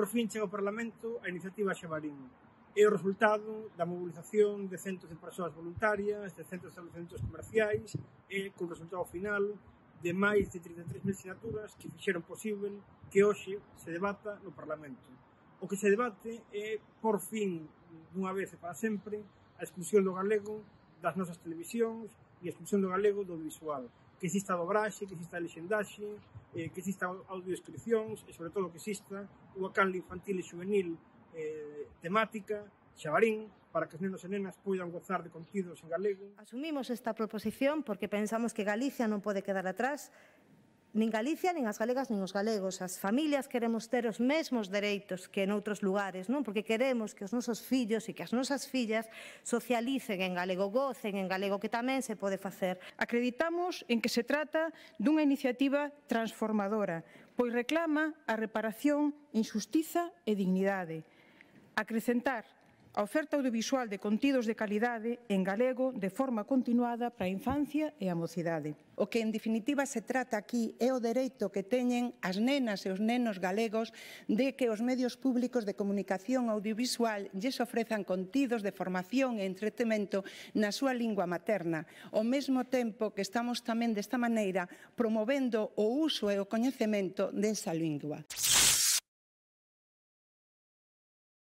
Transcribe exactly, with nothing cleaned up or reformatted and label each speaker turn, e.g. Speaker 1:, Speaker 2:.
Speaker 1: Por fin chega ao Parlamento a iniciativa Xabarín. É o resultado da mobilización de centos de persoas voluntarias, de centos de estabelecimentos comerciais e con resultado final de máis de trinta e tres mil sinaturas que fixeron posible que hoxe se debata no Parlamento. O que se debate é, por fin, dunha vez e para sempre, a exclusión do galego das nosas televisións e a exclusión do galego do audiovisual. Que exista a dobraxe, que exista a lexendaxe, eh, que exista audiodescripcións e, sobre todo, que exista unha canle infantil e juvenil eh, temática, Xabarín, para que os nenos e nenas poidan gozar de contidos en galego.
Speaker 2: Asumimos esta proposición porque pensamos que Galicia non pode quedar atrás, nin Galicia, nin as galegas, nin os galegos. As familias queremos ter os mesmos dereitos que en outros lugares, non? Porque queremos que os nosos fillos e que as nosas fillas socialicen en galego, gocen en galego, que tamén se pode facer.
Speaker 3: Acreditamos en que se trata dunha iniciativa transformadora, pois reclama a reparación, injustiza e dignidade. Acrecentar a oferta audiovisual de contidos de calidade en galego de forma continuada para a infancia e a mocidade.
Speaker 4: O que, en definitiva, se trata aquí é o dereito que teñen as nenas e os nenos galegos de que os medios públicos de comunicación audiovisual lles ofrezan contidos de formación e entretemento na súa lingua materna, ao mesmo tempo que estamos tamén desta maneira promovendo o uso e o coñecemento desa lingua.